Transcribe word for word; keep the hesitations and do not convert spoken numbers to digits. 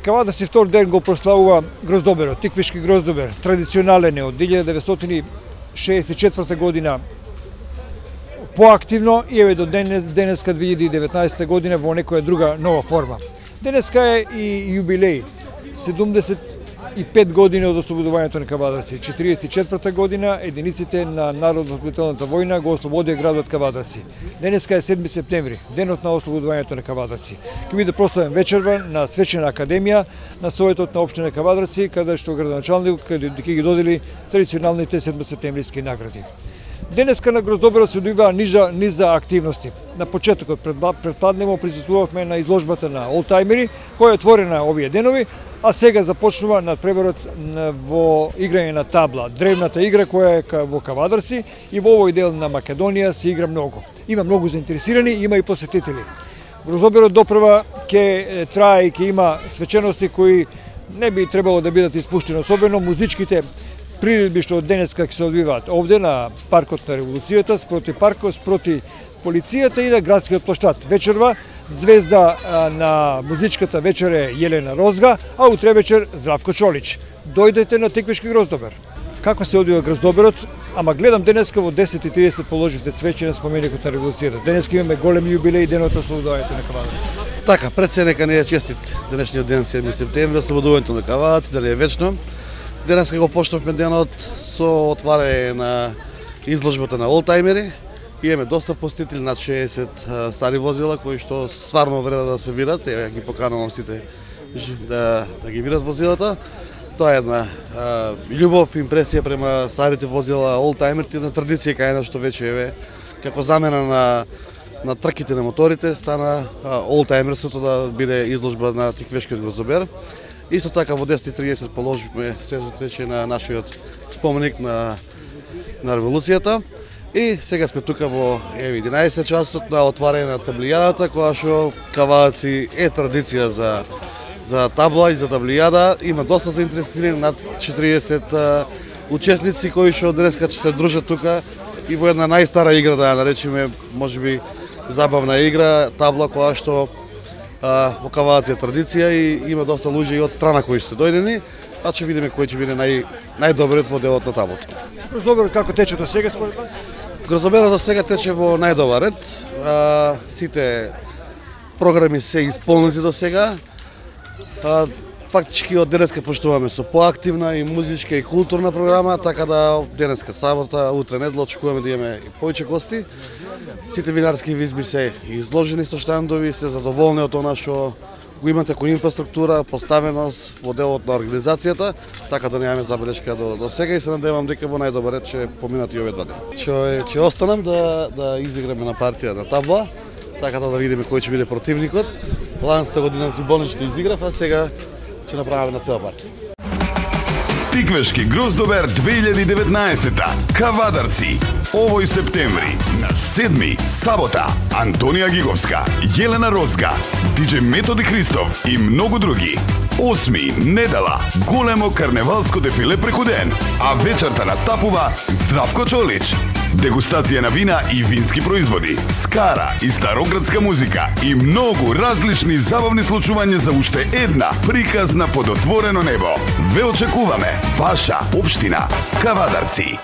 Кавадарци втор ден го прославува гроздоберот, тиквишки гроздобер, традиционален е од илјада деветстотини шеесет и четврта година поактивно и еве до денес, денеска две илјади и деветнаесета година во некоја друга нова форма. Денеска е и јубилеј, седумдесет и пет години од ослободувањето на Кавадарци. четириесет и четврта година единиците на Народно-ослободителната војна го ослободија градот Кавадарци. Денеска е седми септември, денот на ослободувањето на Кавадарци. Ќе биде прославен вечерва на Свечена академија на Советот на општина Кавадарци, каде што градоначалникот ќе ги додели традиционалните седмосептемвриски награди. Денеска на гроздоберот се одвива низа, низа активности. На почетокот предпаднемо присуствувавме на изложбата на олтајмери, која е отворена овие денови, а сега започнува надпреварот во играње на табла, древната игра која е во Кавадарци и во овој дел на Македонија се игра многу. Има многу заинтересирани, има и посетители. Гроздоберот допрва ќе трае и ќе има свечености кои не би требало да бидат испуштени, особено музичките приредби што денеска ќе се одвиваат овде на паркот на Револуцијата, спроти паркот, спроти полицијата и на градскиот плоштад. Вечерва звезда на музичката вечер е Јелена Розга, а утре вечер Здравко Чолич. Дојдете на Тиквишки гроздобер. Како се одвива гроздоберот? Ама гледам денеска во десет и тридесет положивте цвеќе на споменикот на Револуцијата. Денеска имаме голем јубилеј, денот на ослободувањето на Кавадарци. Така, пред се нека не е честит денешниот ден, седми септември, ослободувањето на Кавадарци, да не е вечно. Денеска го почнавме денот со отварање на изложбата на олтајмери. Имаме доста посетители, над шеесет стари возила кои што стварно вреда да се видат. Ја ги поканувам сите да, да ги видат возилата. Тоа е една а, љубов, импресија према старите возила, олтајмерите, една традиција кај нас што веќе е како замена на на трките на моторите, стана олтајмерството да биде изложба на Тиквишкиот гроздобер. Исто така во десет и тридесет положивме следвајќи на нашиот споменик на на Револуцијата. И сега сме тука во единаесет часот на отварање на таблијадата, која што Кавадарци е традиција за за табла и за таблијада. Има доста заинтересирани, над четириесет учесници кои што денеска ќе се дружат тука и во една најстара игра, да ја наречеме, можеби забавна игра, табла која што во Кавадарци е традиција и има доста луѓе и од страна кои се дојдени, па ќе видиме кој ќе биде нај најдобриот во делот на таблата. Гроздоберот како тече до сега според вас? Гроздоберот до сега тече во најдобар ред. А, сите програми се исполнети до сега. А, фактички од денеска почнуваме со поактивна и музичка и културна програма, така да денеска сабота, утре недела очекуваме да имаме и повеќе гости. Сите винарски изложби се изложени со штандови, се задоволни од она што го имате кој инфраструктура, поставеност во делот на организацијата, така да немаме забелешка до, до сега и се надевам дека во најдобар ред ќе поминат и овие два дена. Ќе ќе останам да да изиграме на партија на табла, така да да видиме кој ќе биде противникот. Ланста година си болнично изиграв, а сега ќе направиме на цела партија. Тиквишки гроздобер две илјади и деветнаесета, Кавадарци, овој септември, на седми, сабота, Антонија Гиговска, Јелена Розга, диџеј Методи Христов и многу други. Осми, недела, големо карневалско дефиле преку ден, а вечерта настапува Здравко Чолич. Дегустација на вина и вински производи, скара и староградска музика и многу различни забавни случувања за уште една приказна под отворено небо. Ве очекуваме, ваша општина Кавадарци.